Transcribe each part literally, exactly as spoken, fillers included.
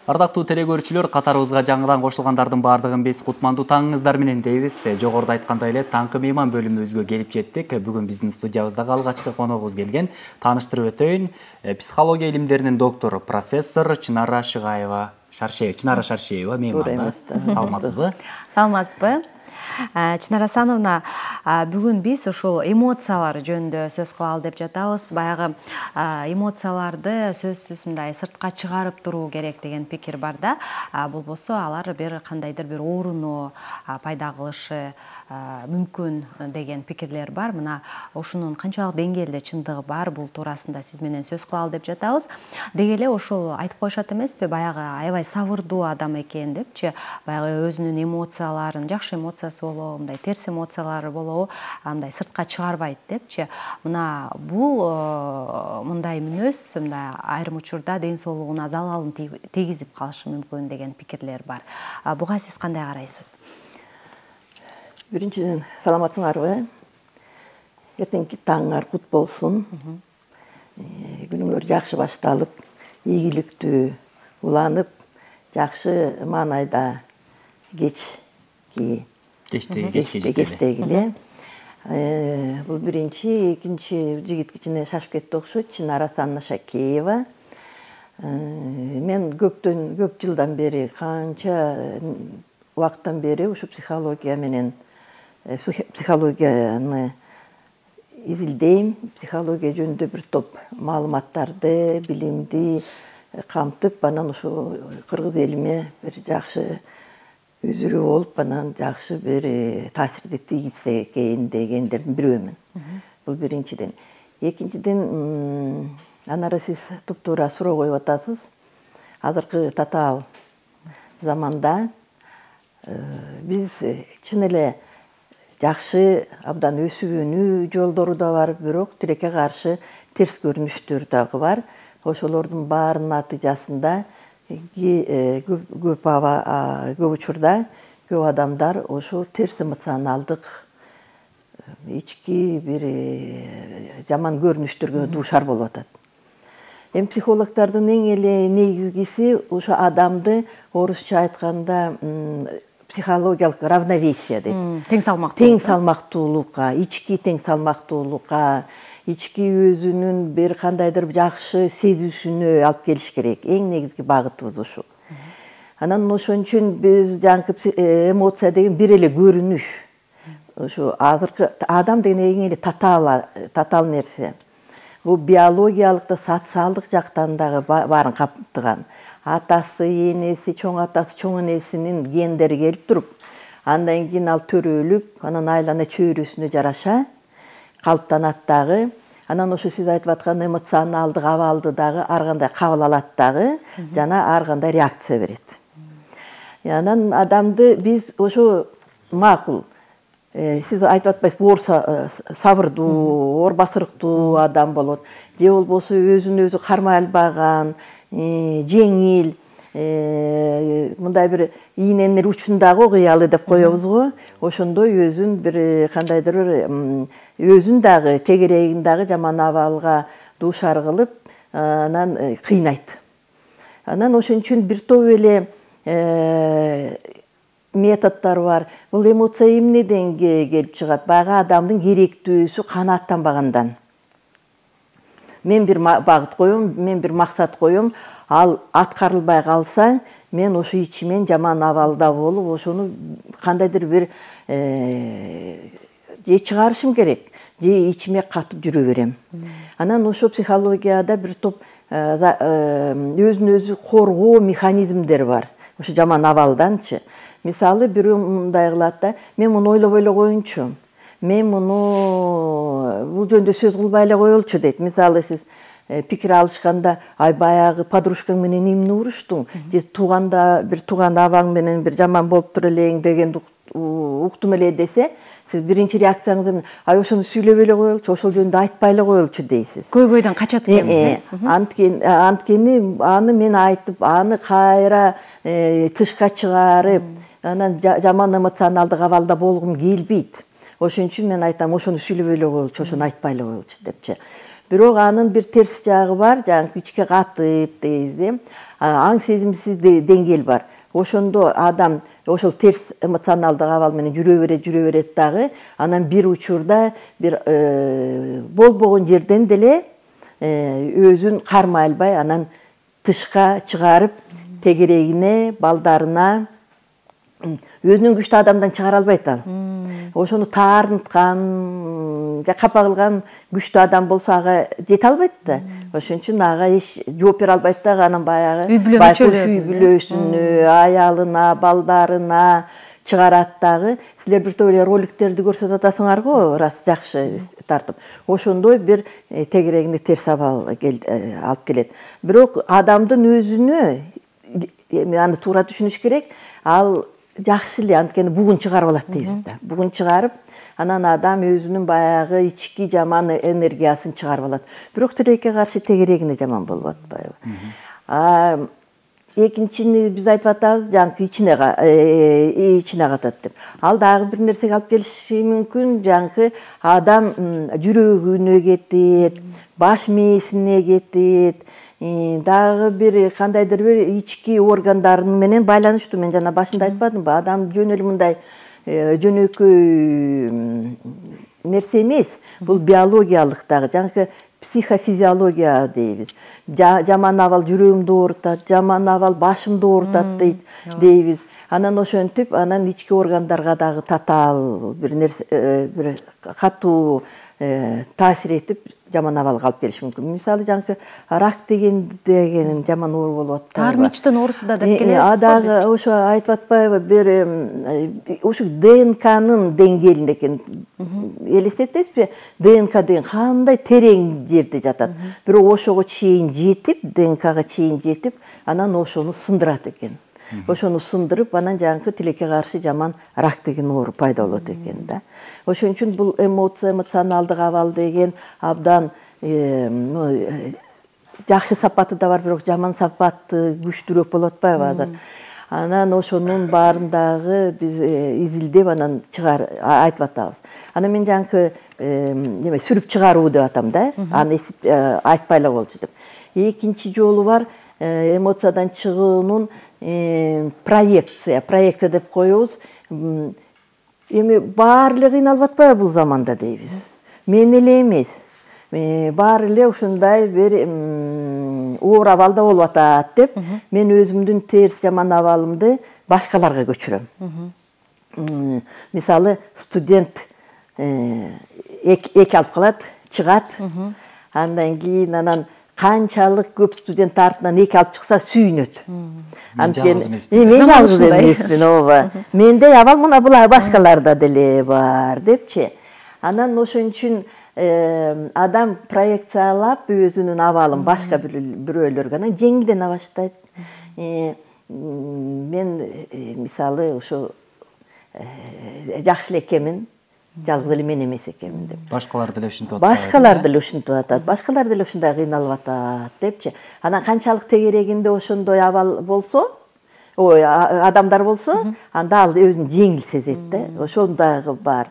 Ардактуу теле көрүүчүлөр, катарыбызга жаңыдан кошулгандардын баардыгын биз кутмандуу таңыңыздар менен дейбиз. Жогоруда айткандай эле таңкы мейман бөлүмүбүзгө келип жеттик. Бүгүн биздин студиябыздагы алгачкы коногубуз келген. Тааныштырып өтөйүн. Психология илимдеринин доктору, профессор Чынара Шыгаева Шаршеева. Чынара Шаршеева мейман. Саламатсызбы? Саламатсызбы? Чынара Асановна, бүгүн биз ушул эмоциялар жөнүндө сөз кылалы деп жатабыз. Баягы эмоцияларды сөзсүз мындай сыртка чыгарып туруу керек деген пикир бар да. Болбосо алар бир кандайдыр бир ооруну пайда кылышы мүмкүн деген пикирлер бар. Мына ушунун канчалык деңгээлде чындыгы бар, бул туурасында сиз менен сөз кылалы деп жатабыз. Деги эле ошол айтып коюшат эмеспи, баягы аябай сабырдуу адам экен депчи, баягы өзүнүн эмоцияларын, жакшы эмоциясы болобу, мындай терс эмоциялары болобу, андай сыртка чыгарбайт депчи. Мына бул мындай мүнөз мындай айрым учурда ден соолугуна залалын тийгизип калышы мүмкүн деген пикирлер бар. Буга сиз кандай карайсыз? Биринчиден, саламатсыңарбы? Эртеңки таңыңар кут болсун. Күнүңөр жакшы башталып, ийгиликтүү уланып, жакшы маанайда кечки кечтеги эле. Бул биринчи, экинчи жигит кичине шашып кетти окшойт. Чынара Шакеева. Мен көптөн көп жылдан бери, канча убакыттан бери ушу психология менен психологияны изилдейм, психология жөнүндө бир топ маалыматтарды, билимди камтып, анан ушу кыргыз элиме бир жакшы үзүрү болуп, анан жакшы бир таасирди тийгизсе экен дегендердин бирөөмүн. Бул биринчиден. Экинчиден, анары сиз туп-туура суроо коюп атасыз. Азыркы татаал заманда биз чын эле жакшы абдан өсүп өнүү жолдору да бар, бирок тилекке каршы терс көрүнүштөр дагы бар. Ошолордун баарынын натыйжасында көп аба көп учурда көп адамдар ошо терс эмоционалдык ички бир жаман көрүнүштөргө дуушар болуп атат. Эми психологдордун эң эле негизгиси ошо адамды орусча айтканда психологиялык равновесие дейт. Тең салмактуулук. Тең салмактуулукка, ички тең салмактуулукка, ички өзүнүн бир кандайдыр жакшы сезүүсүнө алып келиш керек. Эң негизги багытыбыз ушул. Анан ошон үчүн биз жаңкы эмоция деген бир эле көрүнүш. Ошо азыркы адам деген эң эле татаал татаал нерсе. Бул биологиялык да, социалдык жактан дагы баарын камтыган. Атасы, энеси, чоң атасы, чоң энесинин гендери келип туруп, андан кийин ал төрөлүп, анан айлана чөйрөсүнө жараша калыптанат дагы. Анан ошо сиз айтып аткан эмоционалдык абалды дагы ар кандай кабыл алат дагы, жана ар кандай реакция берет. Анан адамды биз ошо макул, сиз айтып атпайсызбы, оор сабырдуу, оор басырыктуу адам болот. Же болбосо өзүн өзү кармай албаган, жеңил, мындай бир ийненин учундагы окуялы деп коебуз го. Ошондой өзүн бир кандайдыр бир өзүн дагы тегерегин дагы жаман абалга дуушар кылып, анан кыйнайт. Анан ошон үчүн бир топ эле методдор бар. Бул эмоция эмнеден келип чыгат? Баягы адамдын керектүүсү канааттанбагандан. Мен бир багыт коем, мен бир максат коем, ал аткарылбай калса, мен ошо ичимен жаман абалда болуп, ошону кандайдыр бир же чыгарышым керек, же ичиме катып жүрө берем. Анан ошо психологияда бир топ өзүн өзү коргоо механизмдери бар. Ошо жаман абалданчы. Мисалы, бирөө мындай кылат да, мен муну ойлоп эле коеюнчу. Мен муну бул жөнүндө сөз кылбай эле коелучу дейт. Мисалы, сиз пикир алышканда, ай баягы подружкаң менен эмне уруштуң? Же тууганда бир тууган абаң менен бир жаман болуптур элең дегенди уктум эле десе, сиз биринчи реакцияңыз эмне? Ай ошону сүйлөп эле коелучу, ошол жөнүндө айтпай эле коелучу дейсиз. Көйгөйдөн качат экенбиз. Анткени аны мен айтып, аны кайра тышка чыгарып, анан жаман эмоционалдык абалда болгум келбейт. Ошон үчүн мен айтам, ошону сүйлөп эле коелучу, ошону айтпай эле коелучу депчи. Бирок анын бир терс жагы бар, жаңы ичке катып дейбиз. аң сезимсиз деңгээл бар. Ошондо адам ошол терс эмоционалдык абал менен жүрө берет, жүрө берет дагы, анан бир учурда бир болбогон жерден деле өзүн кармай албай, анан тышка чыгарып, тегерегине, балдарына, өзүнүн күчтүү адамдан чыгара албайт ал. Ошону таарынткан, капа кылган күчтүү адам болсо ага жете албайт да. Ошон үчүн ага эч жооп бере албайт дагы, анан баягы үй бүлөсүнө, аялына, балдарына чыгарат дагы. Силер бир топ эле роликтерди көрсөтүп атасыңар го, рас жакшы тартып. Ошондой бир тегерегине терс абал алып келет. Бирок адамдын өзүнө аны туура түшүнүш керек. Ал жакшы эле, анткени бугун чыгарып алат дейбиз да. Бугун чыгарып, анан адам өзүнүн баягы ички жаман энергиясын чыгарып алат. Бирок тилекке каршы тегерегине жаман болуп атпайбы? Экинчини биз айтып атабыз, жанагы ичине ичине катат деп. Ал дагы бир нерсеге алып келиши мүмкүн. Жанагы адам жүрөгүнө кетет, баш мээсине кетет. Дагы бир кандайдыр бир ички органдарын менен байланыштуу. Мен жана башында айтпадымбы? Адам жөн эле мындай жөнөкөй нерсе эмес. Бул биологиялык дагы, жанагы психофизиология дейбиз. Жаман абал жүрөгүмдү оорутат, жаман абал башымды оорутат дейбиз. Анан ошентип, анан ички органдарга дагы татаал бир нерсе, бир катуу таасир этип, жаман абалга алып келиши мүмкүн. Мисалы, жанагы рак деген деген жаман оору болуп атпайбы? Таармычтын оорусу да деп келебиз. А дагы ошо айтып атпайбы, бир ушу ДНКнын деңгээлинде экен. Элестетесизби? ДНК деген кандай терең жерде жатат. Бирок ошого чейин жетип, ДНКга чейин жетип, анан ошону сындырат экен. Ошону сындырып, анан жанагы тилекке каршы жаман рак деген оору пайда болот экен да. Ошон үчүн бул эмоция, эмоционалдык абал деген абдан жакшы сапаты да бар, бирок жаман сапаты күчтүүрөөк болуп атпайбы азыр? Анан ошонун баарын дагы биз изилдеп, анан чыгар айтып атабыз. Анан мен жанагы неме сүрүп чыгаруу деп атам да. Аны айтпай эле болчу деп. Экинчи жолу бар, эмоциядан чыгуунун проекция, проекция деп коебуз. Эми баары эле кыйналып атпайбы бул заманда дейбиз. Мен эле эмес. Баары эле ушундай бир оор абалда болуп атат деп, мен өзүмдүн терс жаман абалымды башкаларга көчүрөм. Мисалы, студент эки алып калат, чыгат. Андан кийин анан канчалык көп студент артынан эки алып чыкса сүйүнөт. Мен жалгыз эмесмин. Мен жалгыз эмесмин, ооба. Менде абал мына булар башкаларда деле бар депчи. Анан ошон үчүн адам проекциялап өзүнүн абалын башка бирөөлөргө анан жеңилдене баштайт. Мен мисалы ошо жакшы эле экенмин, жалгыз эле мен эмес экенмин деп. Башкалар деле ушинтип атат. Башкалар деле ушинтип атат. Башкалар деле ушундай кыйналып атат депчи. Анан канчалык тегерегинде ошондой абал болсо, ой, адамдар болсо, анда ал өзүн жеңил сезет да. Ошондагы бар.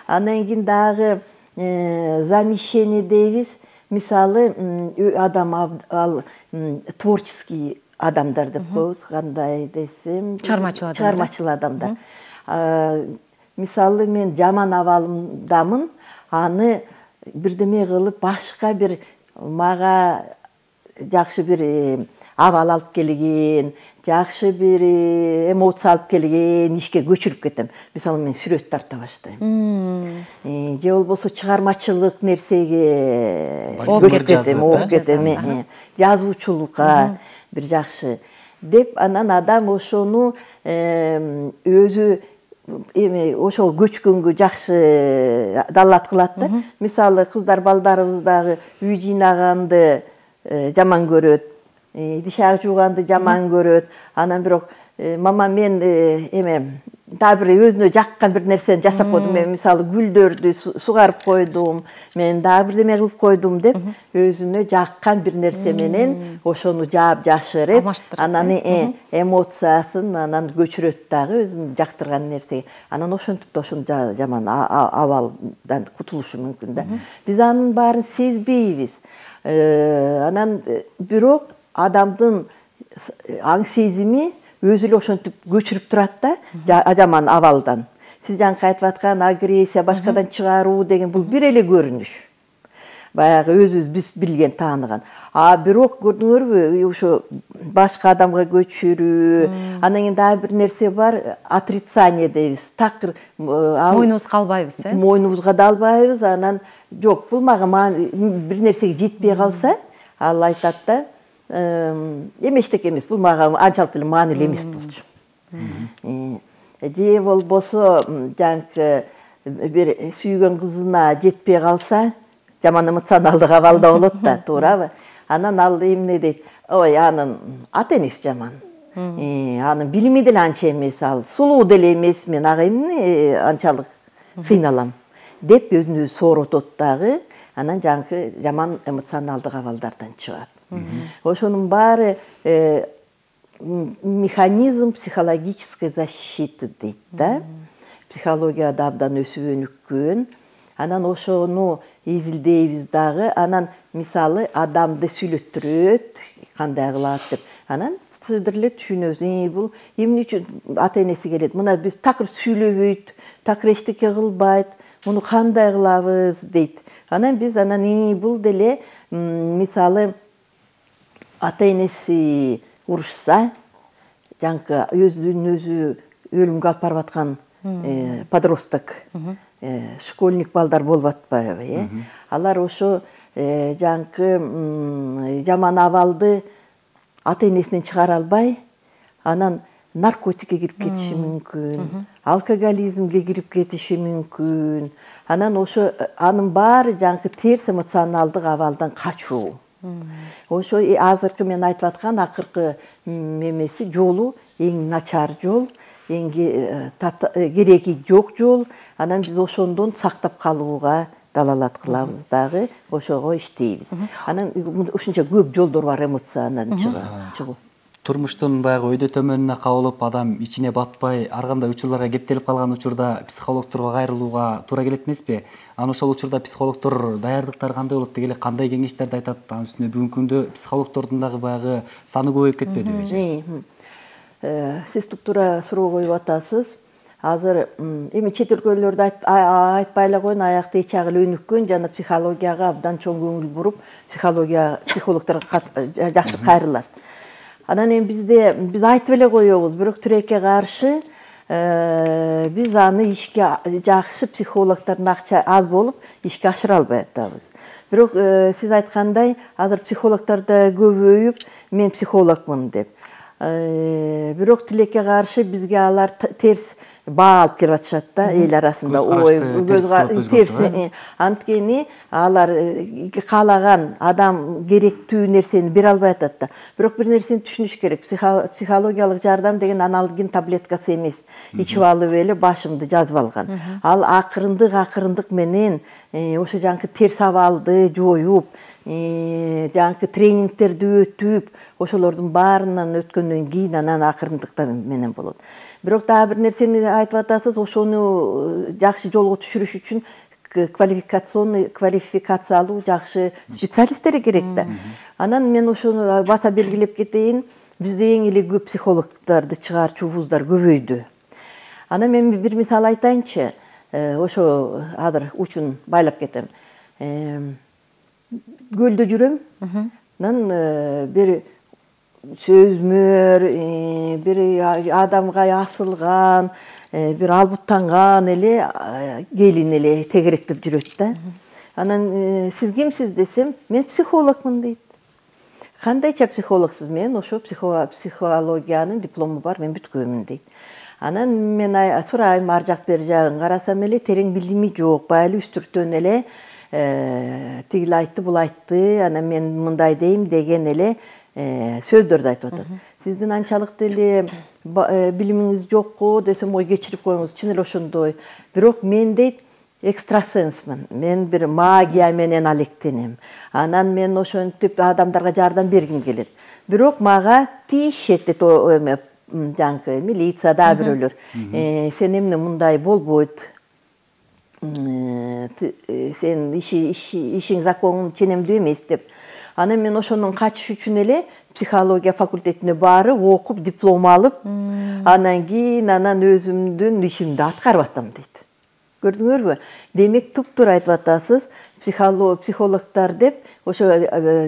Анан кийин дагы замещение дейбиз. Мисалы, адам ал творческий адамдар деп коебуз, кандай десем, чыгармачыл адамдар. Чыгармачыл адамдар. Мисалы, мен жаман абалымдамын, аны бирдеме кылып башка бир мага жакшы бир абал алып келген, жакшы бир эмоция алып келген ишке көчүрүп кетем. Мисалы, мен сүрөт тарта баштайм. Же болбосо чыгармачылык нерсеге көчүп кетем, окуп кетем. Жазуучулукка бир жакшы деп, анан адам ошону өзү эми ошол көчкөнгө жакшы далат кылат да. Мисалы, кыздар балдарыбыз дагы үй жыйнаганды жаман көрөт, тиш аяк жууганды жаман көрөт. Анан бирок мама мен эме дагы бир өзүнө жаккан бир нерсени жасап койдум. Мен мисалы гүлдөрдү сугарып койдум, мен дагы бирдеме кылып койдум деп, өзүнө жаккан бир нерсе менен ошону жаап жашырып, анан эмоциясын анан көчүрөт дагы өзүнүн жактырган нерсеге. Анан ошентип да ошон жаман абалдан кутулушу мүмкүн да. Биз анын баарын сезбейбиз. Анан бирок адамдын аң сезими өзү эле ошентип көчүрүп турат да жаман абалдан. Сиз жаңы айтып аткан агрессия, башкадан чыгаруу деген бул бир эле көрүнүш. Баягы өзүбүз биз билген, тааныган. А бирок көрдүңөрбү, ошо башка адамга көчүрүү, анан кийин дагы бир нерсе бар, отрицание дейбиз. Такыр мойнубузга албайбыз, э? Мойнубузга да албайбыз, анан жок, бул мага бир нерсеге жетпей калса, ал айтат да, эмештек эмес, бул мага анчалык эле маанилүү эмес болчу. Же болбосо жаңкы бир сүйгөн кызына жетпей калса, жаман эмоционалдык абалда болот да, туурабы? Анан ал эмне дейт? Ой, анын ата энеси жаман. Анын билими деле анча эмес, ал сулуу деле эмес, мен ага эмне анчалык кыйналам деп өзүн өзү сооротот дагы. Анан жаңкы жаман эмоционалдык абалдардан чыгат. Ошонун баары механизм психологической защиты дейт да. Психологияда абдан өсүп өнүккөн. Анан ошону изилдейбиз дагы. Анан мисалы адамды сүйлөттүрөт, кандай кылат деп. Анан сиздер эле түшүнөбүз. Бул эмне үчүн ата энеси келет? Мына биз такыр сүйлөбөйт, такыр эчтеке кылбайт. Муну кандай кылабыз дейт. Анан биз анан бул деле мисалы ата энеси урушса, жаңкы өзүнүн өзү өлүмгө алып барып аткан подросток, школьник балдар болуп атпайбы, э? Алар ошо жаңкы жаман абалды ата энесинен чыгара албай, анан наркотикке кирип кетиши мүмкүн, алкоголизмге кирип кетиши мүмкүн. Анан ошо анын баары жаңкы терс эмоционалдык абалдан качуу. Ошо азыркы мен айтып аткан акыркы эмеси жолу эң начар жол, эң кереги жок жол. Анан биз ошондон сактап калууга далалат кылабыз дагы, ошого иштейбиз. Анан ушунча көп жолдор бар эмоциядан чыгуу. Турмуштун баягы өйдө төмөнүнө кабылып, адам ичине батпай, ар кандай учурларга кептелип калган учурда психологторго кайрылууга туура келет эмеспи? Анан ошол учурда психологтор даярдыктары кандай болот деги эле, кандай кеңештерди айтат? Анын үстүнө бүгүнкү күндө психологтордун дагы баягы саны көбөйүп кетпедиби? Сиз туптуура суроо коюп атасыз. Азыр эми чет өлкөлөрдө айтпай эле коеюн, аякта эч жагы эле өнүккөн жана психологияга абдан чоң көңүл буруп, психология психологторго жакшы кайрылат. Анан эми бизде биз айтып эле коебуз, бирок тилекке каршы биз аны ишке жакшы психологдордун акча аз болуп, ишке ашыра албай атабыз. Бирок сиз айткандай, азыр психологдор да көбөйүп, мен психологмун деп. Бирок тилекке каршы бизге алар терс баа алып келип атышат да, эл арасында. Ой, терс. Анткени алар каалаган адам керектүү нерсени бере албай атат да. Бирок бир нерсени түшүнүш керек. Психологиялык жардам деген аналгин таблеткасы эмес. Ичип алып эле башымды жазып алган. Ал акырындык акырындык менен ошо жаңкы терс абалды жоюп, жаңкы тренингтерди өтүп, ошолордун баарынан өткөндөн кийин анан акырындыкта менен болот. Бирок дагы бир нерсени айтып атасыз, ошону жакшы жолго түшүрүш үчүн квалификационный квалификациялуу жакшы специалисттер керек да. Анан мен ошону баса белгилеп кетейин, бизде эң эле көп психологдорду чыгарчу вуздар көбөйдү. Анан мен бир мисал айтайынчы, ошо азыр учун байлап кетем. Көлдө жүрөм, анан бир сөзмөр, бир адамга асылган, бир албуттанган эле келин эле тегеректеп жүрөт да. Анан сиз кимсиз десем, мен психологмун дейт. Кандайча психологсуз? Мен ошо психологиянын диплому бар, мен бүткөнмүн дейт. Анан мен сурайм, ар жак бер жагын карасам эле терең билими жок, баалы үстүртөн эле тигил айтты, бул айтты, анан мен мындай дейм деген эле сөздөрдү айтып атат. Сиздин анчалык деле билимиңиз жокко десем, ой кечирип коюңуз, чын эле ошондой. Бирок мен дейт экстрасенсмин. Мен бир магия менен алектенем. Анан мен ошентип адамдарга жардам бергим келет. Бирок мага тиешет дейт, жаңкы милицияда бирөөлөр. Сен эмне мындай болбойт? Сен ишиң законун ченемдүү эмес деп. Анан мен ошонун качыш үчүн эле психология факультетине барып, окуп, диплом алып, анан кийин анан өзүмдүн ишимди аткарып атам дейт. Көрдүңөрбү? Демек туптуура айтып атасыз, психологдор деп ошо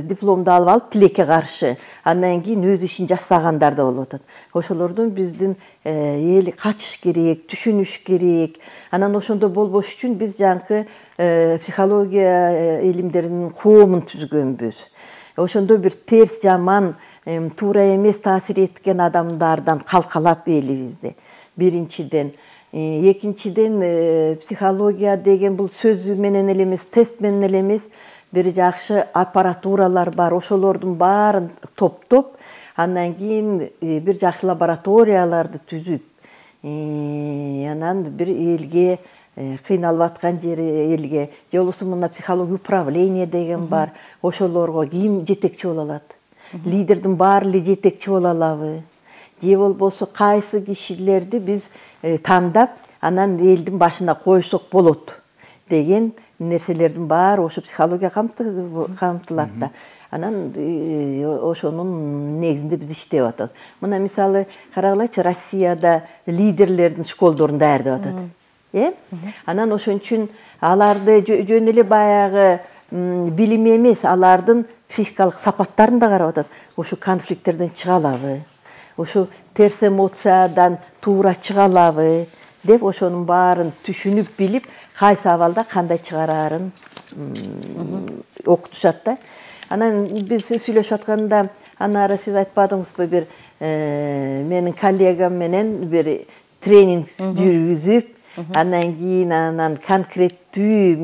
дипломду алып алып тилекке каршы, андан кийин өз ишин жасагандар да болуп атат. Ошолордун биздин эл качыш керек, түшүнүш керек. Анан ошондой болбош үчүн биз жанкы психология илимдеринин коомун түзгөнбүз. Ошондой бир терс, жаман, туура эмес таасир эткен адамдардан калкалап элибизди. Биринчиден, экинчиден, психология деген бул сөз менен эле эмес, тест менен эле эмес, бир жакшы аппаратуралар бар. Ошолордун баарын топтоп, андан кийин бир жакшы лабораторияларды түзүп, анан бир элге, кыйналып аткан жери элге, же болбосо мына психология управление деген бар. Ошолорго ким жетекчи боло алат? Лидердин баары эле жетекчи боло алабы? Же болбосо кайсы кишилерди биз тандап, анан элдин башына койсок болот деген нерселердин баары ошо психология камтылат да. Анан ошонун негизинде биз иштеп атабыз. Мына мисалы карагылачы, Россияда лидерлердин школдорун даярдап атат. Э? Анан ошон үчүн аларды жөн эле баягы билим эмес, алардын психикалык сапаттарын да карап атат. Ошо конфликттерден чыга алабы? Ошо терс эмоциядан туура чыга алабы деп ошонун баарын түшүнүп билип, кайсы абалда кандай чыгарарын окутушат да. Анан биз сүйлөшүп атканда, анары сиз айтпадыңызбы, бир менин коллегам менен бир тренинг жүргүзүп, андан кийин анан конкреттүү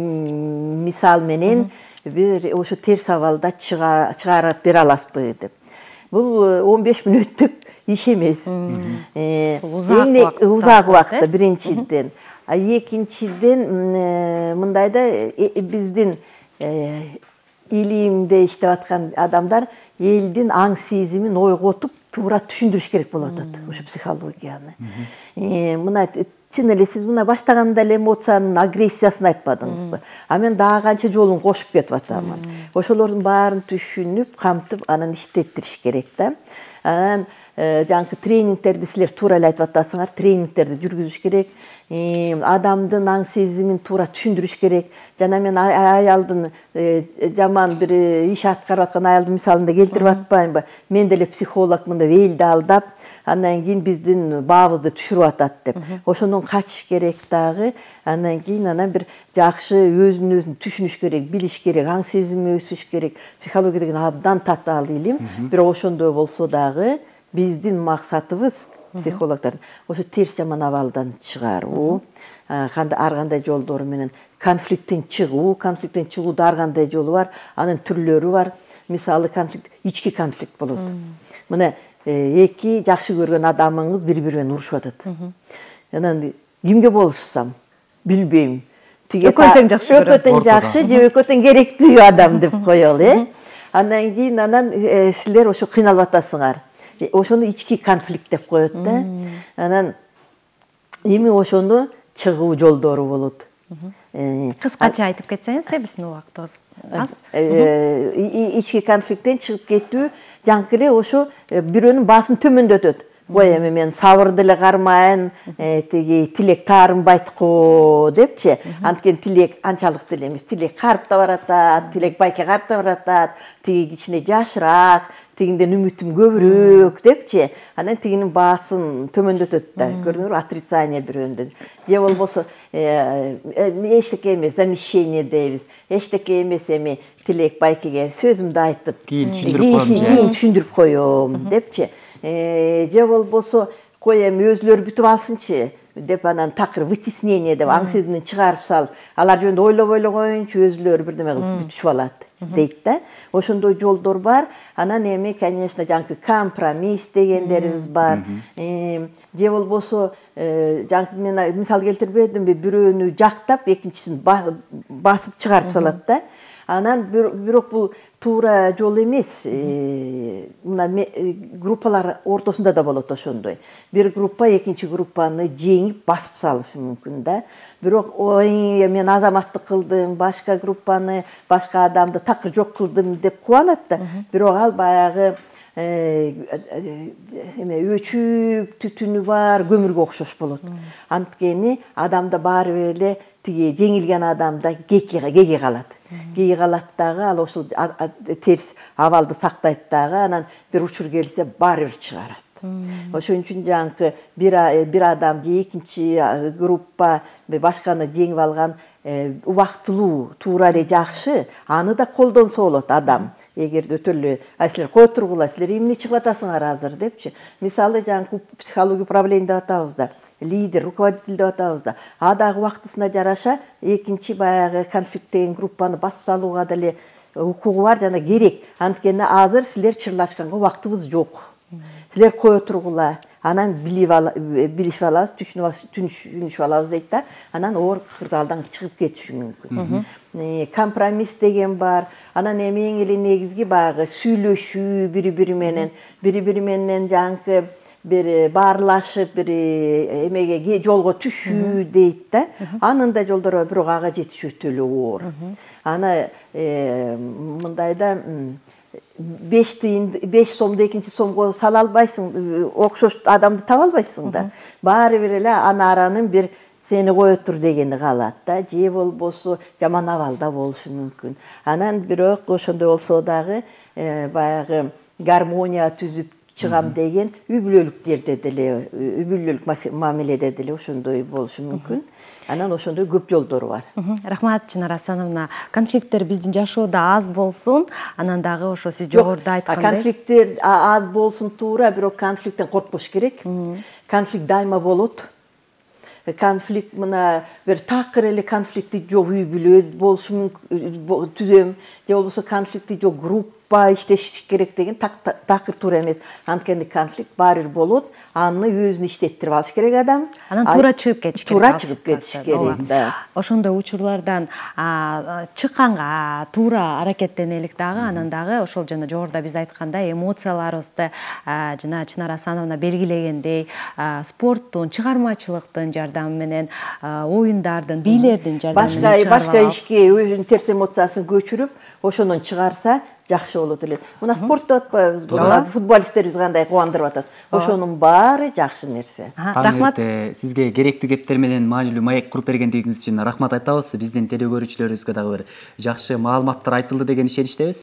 мисал менен бир ошо терс абалда чыгарып бере аласызбы деп. Бул он беш мүнөттүк иш эмес. Узак убакытта биринчиден. А экинчиден, мындайда биздин илимде иштеп аткан адамдар элдин аң сезимин ойготуп, туура түшүндүрүш керек болуп атат ошо психологияны. Мына чын эле сиз мына баштаганда эле эмоциянын агрессиясын айтпадыңызбы? А мен дагы канча жолун кошуп кетип атамын. Ошолордун баарын түшүнүп, камтып, анан иштеттириш керек да. Анан жанкы тренингтерди силер туура эле айтып атасыңар, тренингтерди жүргүзүш керек. Адамдын аң сезимин туура түшүндүрүш керек. Жана мен аялдын жаман бир иш аткарып аткан аялдын мисалында келтирип атпаймынбы? Мен деле психолог мындай элди алдап, андан кийин биздин баабызды түшүрүп атат деп. Ошондон качыш керек дагы. Андан кийин анан бир жакшы өзүн өзүн түшүнүш керек, билиш керек, аң сезими өсүш керек. Психология деген абдан татаал илим. Бирок ошондой болсо дагы биздин максатыбыз психологдордун ошо терс жаман абалдан чыгаруу, ар кандай жолдору менен конфликттен чыгуу, конфликттен чыгууда ар кандай жолу бар, анын түрлөрү бар. Мисалы конфликт, ички конфликт болот. Мына эки жакшы көргөн адамыңыз бири-бири менен урушуп атат. Анан кимге болушсам, билбейм. Экөө тең жакшы көрөм. Экөө тең жакшы же экөө тең керектүү адам деп коелу, э? Андан кийин анан силер ошо кыйналып атасыңар. Ошону ички конфликт деп коет да. Анан эми ошону чыгуу жолдору болот. Кыскача айтып кетсеңиз, биздин убактыбыз аз. Ички конфликттен чыгып кетүү жанкы эле ошо бирөөнүн баасын төмөндөтөт. Ой, эми мен сабыр деле кармайын, тиги тилек таарынбайт го депчи. Анткени тилек анчалык деле эмес. Тилек карып да баратат, тилек байке карып да баратат, тиги кичине жашыраак, тигинден үмүтүм көбүрөөк депчи. Анан тигинин баасын төмөндөтөт да. Көрдүңөрбү, отрицание бирөөндөн. Же болбосо эчтеке эмес, замещение дейбиз. Эчтеке эмес, эми тилек байкеге сөзүмдү айтып, кийин түшүндүрүп коем, кийин түшүндүрүп коем депчи. Же болбосо кой эми өзүлөрү бүтүп алсынчы деп анан такыр вытеснение деп аң сезимден чыгарып салып, алар жөнүндө ойлобой эле коеюнчу, өзүлөрү бирдеме кылып бүтүшүп алат дейт да. Ошондой жолдор бар. Анан эми, конечно, жанкы компромисс дегендерибиз бар. Же болбосо жанкы мен мисал келтирбедимби, бирөөнү жактап, экинчисин басып чыгарып салат да. Анан бирок бул туура жол эмес. Мына группалар ортосунда да болот ошондой. Бир группа экинчи группаны жеңип басып салышы мүмкүн да. Бирок ой, мен азаматтык кылдым, башка группаны, башка адамды такыр жок кылдым деп кубанат да. Бирок ал баягы эме өчүп түтүнү бар көмүргө окшош болот. Анткени адамда баары бир эле тиги жеңилген адамда кеки кеги калат. Кеги калат дагы ал ошол терс абалды сактайт дагы, анан бир учур келсе баары бир чыгарат. Ошон үчүн жаңкы бир бир адам же экинчи группа башканы жеңип алган убактылуу, туура эле жакшы, аны да колдонсо болот адам. Эгерде өтө эле силер кое тургула, силер эмне чыгып атасыңар азыр депчи. Мисалы жаңкы психология управление деп атабыз да, лидер, руководитель деп атабыз да. А дагы убактысына жараша экинчи баягы конфликттеген группаны басып салууга деле укугу бар жана керек. Анткени азыр силер чырлашканга убактыбыз жок. Силер кое тургула, анан билишип алабыз, түшүнүшүп алабыз дейт да. Анан оор кырдаалдан чыгып кетиши мүмкүн. Компромисс деген бар. Анан эми эң эле негизги баягы сүйлөшүү, бири-бири менен, бири-бири менен жаңкы бир баарлашып, бир эмеге жолго түшүү дейт да. Анын да жолдору бар, бирок ага жетиш өтө эле оор. Аны мындайда беш тыйын, беш сомду экинчи сомго сала албайсың, окшош адамды таба албайсың да. Баары бир эле ана аранын бир сени кое тур дегени калат да, же болбосо жаман абалда болушу мүмкүн. Анан бирок ошондой болсо дагы баягы гармония түзүп чыгам деген үй бүлөлүк жерде деле, үй бүлөлүк мамиледе деле ошондой болушу мүмкүн. Анан ошондой көп жолдору бар. Рахмат, Чынара Асановна. Конфликттер биздин жашоодо аз болсун, анан дагы ошо сиз жогоруда айткандай. Конфликттер аз болсун туура, бирок конфликттен коркпош керек. Конфликт дайыма болот. Конфликт мына бир такыр эле конфликти жок үй бүлө болушу мүмкүн, түзөм, же болбосо конфликти жок группа иштеши керек деген такыр туура эмес. Анткени конфликт баары бир болот, аны өзүн иштеттирип алыш керек адам. Анан туура чыгып кетиш керек. Туура чыгып кетиш керек да. Ошондой учурлардан чыкканга туура аракеттенелик дагы, анан дагы ошол жана жогоруда биз айткандай эмоцияларыбызды жана Чынара Асановна белгилегендей спорттун, чыгармачылыктын жардамы менен, оюндардын, бийлердин жардамы менен башка ишке өзүнүн терс эмоциясын көчүрүп, ошондон чыгарса жакшы болот эле. Мына спорт деп атпайбызбы? Футболисттерибиз кандай кубандырып атат. Ошонун баары жакшы нерсе. Рахмат. Сизге керектүү кептер менен маанилүү маек куруп бергендигиңиз үчүн рахмат айтабыз. Биздин теле көрүүчүлөрүбүзгө дагы бир жакшы маалыматтар айтылды деген ишеничтебиз.